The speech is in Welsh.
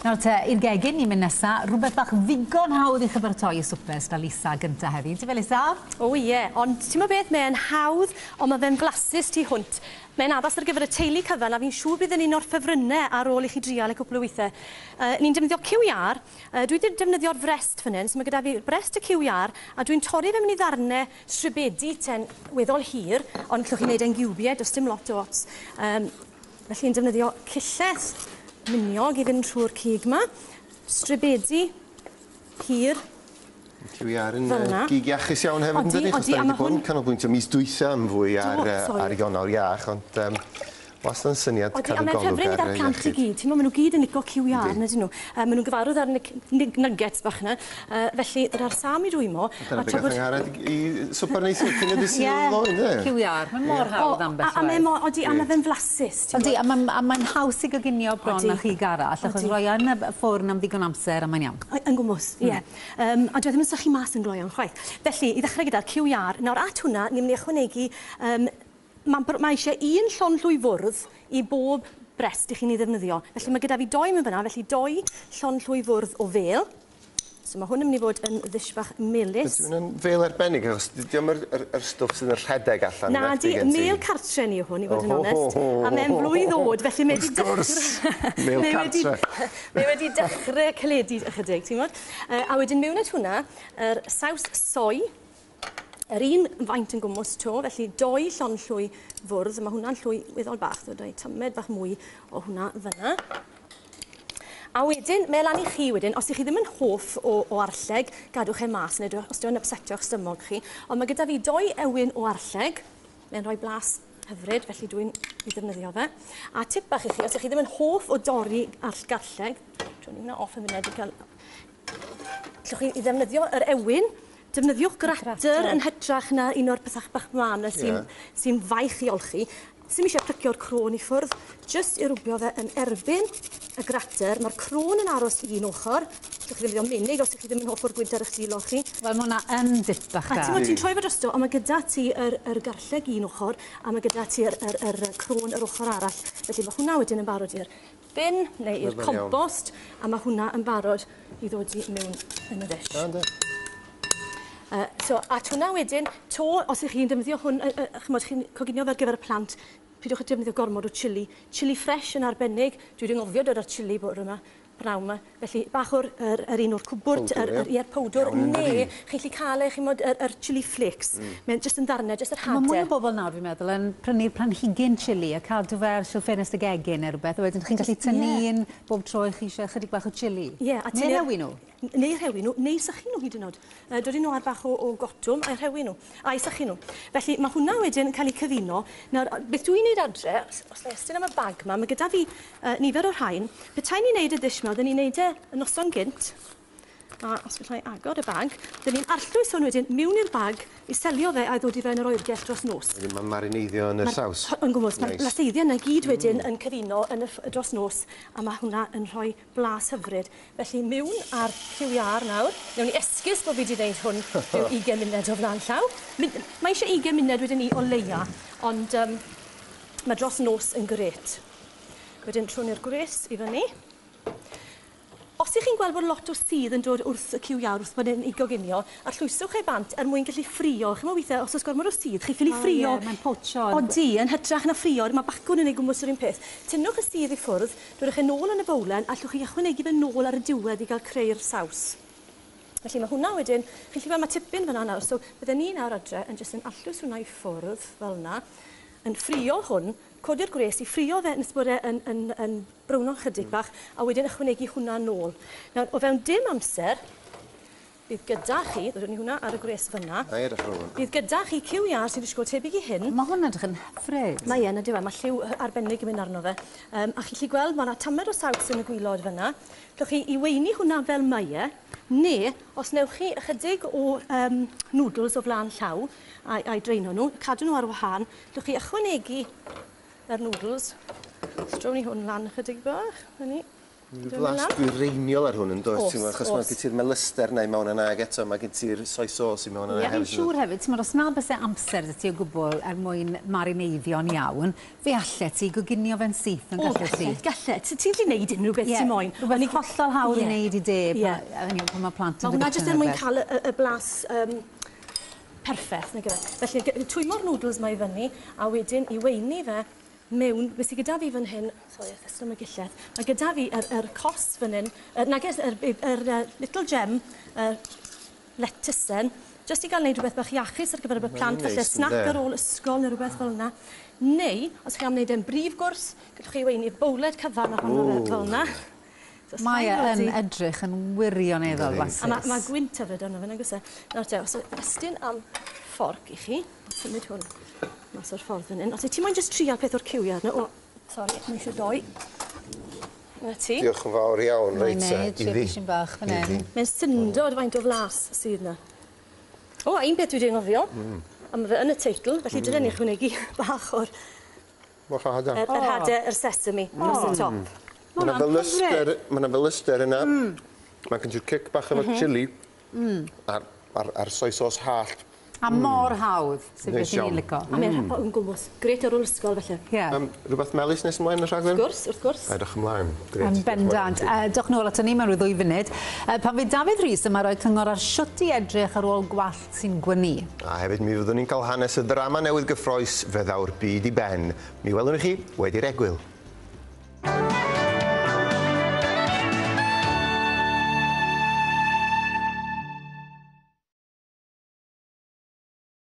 Nawr te, i'r gegin ni'n mynd nesa, rhywbeth bach ddigon hawdd i chi baratoi i swper gyda Lisa gynta heddi. Ti'n fe Lisa? O ie, ond ti'n gwybod beth, mae'n hawdd, ond mae fe'n flasus tu hwnt. Mae'n addas ar gyfer y teulu cyfan, a fi'n siŵr bydd yn un o'r ffefrynnau ar ôl i chi drial y cwpl o weithiau. Ni'n defnyddio cyw iâr, dwi wedi defnyddio'r frest fan hyn, so mae gyda fi brest y cyw iâr, a dwi'n torri fe mewn i ddarnau stribedi ten weddol hir, ond allwch chi wneud e'n giwbiau, does dim lot o ots. Felly yn defnyddio cyllell miniog i fynd trwy'r cig 'ma. Stribedi hir. Cyw iâr yn gig iachus iawn hefyd yn dydi? Achos da ni wedi bod yn canolbwyntio mis dwytha am fwy ar Ionawr iach, ond wastad yn syniad cadw golwg ar iechyd. A mae'n ffefryn gyda'r plant i gyd. Ti'n meddwl, maen nhw gyd yn licio cyw iâr, nag ydyn nhw? Maen nhw'n gyfarwydd â'r nuggets bach yna. Felly, dyna'r sam i rwymo. Dyna be gath Angharad i swper neithiwr cyn y dydd Sul ddoe, ynde? Ie, cyw iâr. Mae'n mor hawdd ambell waith. A mae mor, odi, a mae fe'n flasus. Odi, a mae'n haws i goginio bron na chig arall, achos roi e yn y ffwrn am ddigon amser a mae'n iawn. Yn gwmws, ie. A dyw e ddim yn sychu mas yn gloyw'n chwaith. Felly, i ddechrau gyda'r cyw iâr, nawr at hwnna, ni'n mynd i ychwanegu, mae eisiau un llond llwy fwrdd i bob brest i chi'n ei ddefnyddio. Felly mae gyda fi doi mewn fan'na, felly doi llond llwy fwrdd o fêl. So mae hwn yn mynd i fod yn ddish bach melys. Ydy hwn yn fêl arbennig, achos dydy o'm yr stwff sydd yn rhedeg allan. Na di, mêl cartre ni yw hwn, i fod yn onest. A mae'n flwydd oed, felly mae wedi dechrau... Mêl cartre. Mae wedi dechrau caledu ychydig, ti'n gwybod? A wedyn mewn at hwnna, yr saws soy, yr un faint yn gwmws to, felly doi llond llwy fwrdd, mae hwnna'n llwy weddol bach, so doi tamed bach mwy o hwnna fyna. A wedyn, mae lan i chi wedyn, os ych chi ddim yn hoff o arlleg, gadwch e mas, neu os dyw e'n upsetio'ch stumog chi. Ond mae gyda fi doi ewin o arlleg, mae'n rhoi blas hyfryd, felly dwi'n ei ddefnyddio fe. A tip bach i chi, os ych chi ddim yn hoff o dorri garlleg, dwi'n hwnna off yn funud i gael... Allwch chi i ddefnyddio yr ewin, defnyddiwch grater yn hytrach na un o'r pethau bach mân 'na sy'n faich i olchi. Sim eisiau plycio'r crôn i ffwrdd, jyst i rwbio fe yn erbyn y grater. Mae'r crôn yn aros i un ochr. Allwch chi ddefnyddio menig os ych chi ddim yn hoff o'r gwynt ar eich dwylo chi. Wel, mae hwnna yn dip bach da. A ti'n ti'n troi fe drosto, ond mae gyda ti yr garlleg un ochr, a mae gyda ti yr crôn yr ochr arall. Felly mae hwnna wedyn yn barod i'r bin neu i'r compost, a mae hwnna yn barod i ddod i mewn yn y ddish. So, at hwnna wedyn, to, os ych chi'n defnyddio hwn, chymod, chi'n coginio fe ar gyfer y plant, pidwch â defnyddio gormod o chili. Chili fresh yn arbennig. Dwi wedi anghofio dod â'r chili bore yma, pnawn yma. Felly, bach o'r yr un o'r cwbwrd, yr powdwr, neu chi'n gallu cael e, chimod, yr chili flakes. Mae'n jyst yn ddarnau, jyst yr hadau. Mae mwy o bobl nawr, fi'n meddwl, yn prynu'r planhigyn chili a cadw fe ar silff ffenest y gegin neu rhywbeth, a wedyn chi'n gallu tynnu un bob tro i chi eisiau chydig bach o chili. Ie, a Neu rhewi nhw. Neu rhewi nhw, neu sychu nhw hyd yn oed. Dod nhw ar bach o gotwm a'i rhewi nhw, a'i sychu nhw. Felly mae hwnna wedyn yn cael ei cyfuno. Nawr, beth dwi'n neud adre, os na estyn am y bag yma, mae gyda fi nifer o'r rhain. Petai ni'n neud y dish yma, oedden ni'n neud e y noson gynt. A os gallai agor y bag, dyn ni'n arllwys hwn wedyn mewn i'r bag i selio fe a'i ddod i fe yn yr oergell dros nos. Wedyn mae'n marineiddio yn y saws. Yn gwmws, mae'r blaseiddiau yna gyd wedyn yn cyfuno yn y dros nos, a mae hwnna yn rhoi blas hyfryd. Felly mewn â'r cyw iâr nawr. Newn ni esgus bod fi wedi gwneud hwn rhyw 20 munud o flaen llaw. Mae eisiau 20 munud wedyn ni o leia, ond mae dros nos yn grêt. Wedyn trwn i'r gwres i fyny. Os ych chi'n gweld bod lot o sudd yn dod wrth y cyw iâr wrth bod e'n ei goginio, arllwyswch e bant er mwyn gallu ffrio. Chimod weithiau, os oes gormod o sudd, chi ffili ffrio. Ie, mae'n potsio. Odi, yn hytrach na ffrio, mae bacwn yn ei gwmws yr un peth. Tynnwch y sudd i ffwrdd, dodwch e nôl yn y bowlen, a allwch chi ychwanegu fe nôl ar y diwedd i gael creu'r saws. Felly mae hwnna wedyn, chi'n gallu gweld mae tipyn fan'na nawr, so bydden ni nawr adre yn jyst yn arllwys hwnna i ffwrdd fel yna, yn ffrio hwn, codi'r gwres i ffrio fe nes bod e yn browno chydig bach, a wedyn ychwanegu hwnna nôl. Nawr, o fewn dim amser, bydd gyda chi, ddodwn ni hwnna ar y gwres fyna, bydd gyda chi cyw iâr sy'n disgwyl tebyg i hyn. Mae hwn edrych yn hyfryd. Mae e'n ydyw e, mae lliw arbennig yn mynd arno fe. A chi'n gallu gweld, mae yna tamed o saws yn y gwilod fyna. Allwch chi i weini hwnna fel mae e, neu os newch chi ychydig o noodles o flaen llaw a'i draino nhw, cadw nhw ar wahân, allwch chi ychwanegu yr noodles. Strown ni hwn lan ychydig bach, na ni. Flas dwyreiniol ar hwn yn does, ti'n gwybod, achos mae gen ti'r melyster 'na i mewn yna ag eto mae gen ti'r soy sauce i mewn yna hefyd. Fi'n siŵr hefyd, ti'n os na byse amser 'da ti o gwbl er mwyn marineiddio'n iawn, fe allet ti goginio fe'n syth yn gallet ti? Gallet. Ti'n gallu neud unrhyw beth ti moyn. Rhywbeth hollol hawdd i wneud i de pan mae plant yn dod. Mae hwnna jyst er mwyn cael y blas perffaith, nag yw e? Felly, twymo'r noodles 'ma i fyny, a wedyn i weini fe mewn, beth sydd gyda fi fan hyn, sorry, ystod y gillell, mae gyda fi yr cos fan hyn, nages, yr little gem, lettucen, jyst i gael wneud rhywbeth bach iachus ar gyfer y plant, falle snack ar ôl ysgol neu rhywbeth fel yna. Neu, os chi am wneud e'n brif gwrs, gallwch chi weini bowled cyfan ohono fe fel yna. Mae e yn edrych yn wirioneddol blasus. A mae gwynt hyfryd arno fe, nag oes e? Nawr te, os estyn am fforc i chi, symud hwn mas o'r ffordd fan hyn. Os ti moyn jyst trial peth o'r cywiau arno. O, sori, mae eisiau doi. Na ti. Diolch yn fawr iawn, reit te. Mae'n neud, trio bach fan hyn. Mae'n syndod faint o flas sydd yna. O, a un peth dwi wedi anghofio, a mae fe yn y teitl, felly dylen ni ychwanegu bach o'r yr hade, yr sesame, dros y top. Mae yna felyster yna. Mae gen ti'r cic bach efo'r chili a'r soy sauce hallt. A mor hawdd, sydd beth ni'n licio. A mae'n yn gwmws. Grêt ar ôl ysgol, felly. Rhywbeth melys nes ymlaen y rhaglen? Wrth gwrs, wrth gwrs. Edrych ymlaen. Grêt. Yn bendant. Dewch nôl ato ni mewn rhyw 2 funud. Pan fydd Dafydd Rhys yma roi cyngor ar shwt i edrych ar ôl gwallt sy'n gwynnu. A hefyd mi fyddwn ni'n cael hanes y ddrama newydd gyffrous Fe ddaw'r byd i ben. Mi welwn ni chi wedi'r egwyl.